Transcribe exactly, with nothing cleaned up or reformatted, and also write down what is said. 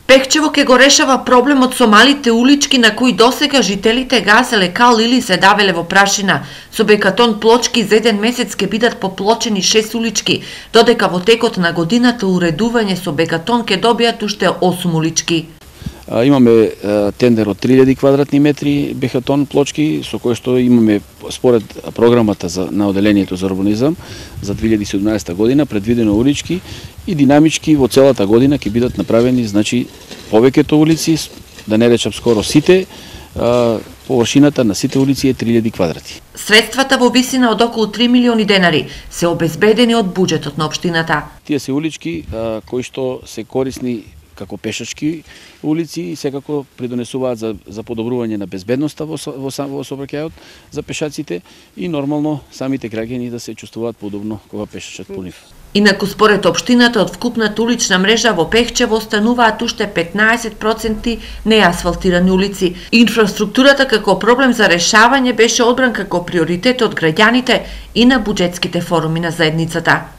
Пехчево ќе го решава проблемот со малите улички на кои досега жителите газеле кал или се давеле во прашина. Со бекатон плочки за еден месец ќе бидат поплочени шест улички, додека во текот на годината уредување со бекатон ќе добијат уште осум улички. Имаме тендер од три илјади квадратни метри бекатон плочки, со кој што имаме според програмата за, на Оделението за урбанизам за две илјади и седумнаесета година предвидено улички и динамички во целата година ќе бидат направени, значи повеќето улици, да не речам скоро сите, површината на сите улици е три илјади квадрати. Средствата во висина од околу три милиони денари се обезбедени од буџетот на општината. Тие се улички кои што се корисни како пешачки улици и секако придонесуваат за, за подобрување на безбедноста во, во, во сообраќајот за пешаците и нормално самите граѓани да се чувствуваат подобно кога пешачат по нив. Инаку според општината од вкупната улична мрежа во Пехчево остануваат уште петнаесет проценти неасфалтирани улици. Инфраструктурата како проблем за решавање беше одбран како приоритет од граѓаните и на буџетските форуми на заедницата.